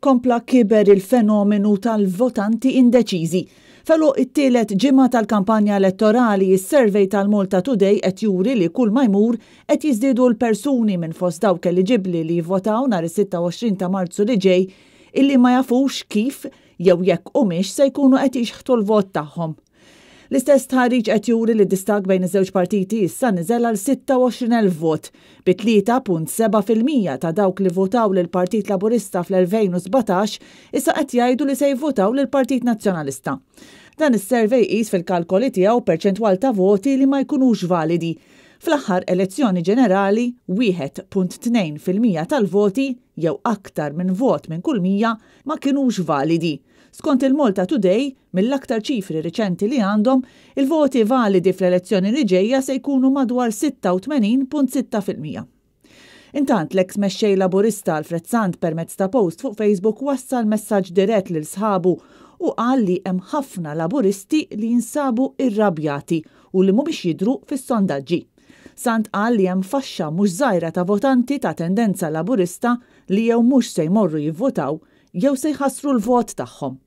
Kompla kiber il-fenomenu tal-votanti indeċiżi. F'għeluq it-tielet ġimgħa tal-kampanja elettorali, is-survey tal-Malta Today qed juri li kull ma jmur qed jiżdiedu l-persuni minn fost dawk eliġibbli li jivvotaw nhar is-26 ta' Marzu li ġej illi ma jafux kif jew jekk humiex se jkunu qed jixħtu l-vot tagħhom. L-istess stħarriġ qed juri li d-distakk bejn iż-żewġ partiti issa niżel għal 26,000 vot, bi 3.7% ta' dawk li votaw lill-Partit Laburista fl-2017 issa qed jgħidu li se jivvotaw lill-Partit Nazzjonalista. Dan is-survey jqis fil-kalkoli tiegħu perċentwal ta' voti li ma jkunux validi. Fl-aħħar elezzjoni ġenerali, 1.2% tal-voti, jew aktar minn vot minn kull 100, ma kinux validi. Skont il-Malta Today, mill-aktar ċifri riċenti li għandhom, il-voti validi fl-elezzjoni li ġejja se jkunu madwar 86.6%. Intant, l-eks mexxej Laburista Alfred Sant permezz ta' post fuq Facebook wassal messaġġ dirett lil sħabu u qal li hemm ħafna Laburisti li jinsabu irrabjati u li mhumiex jidhru fis-sondaġġi. Sant qal li hemm faxxa mhux żgħira ta' votanti ta' tendenza Laburista li jew mhux se jmorru jivvotaw jew se jħassru l-vot tagħhom.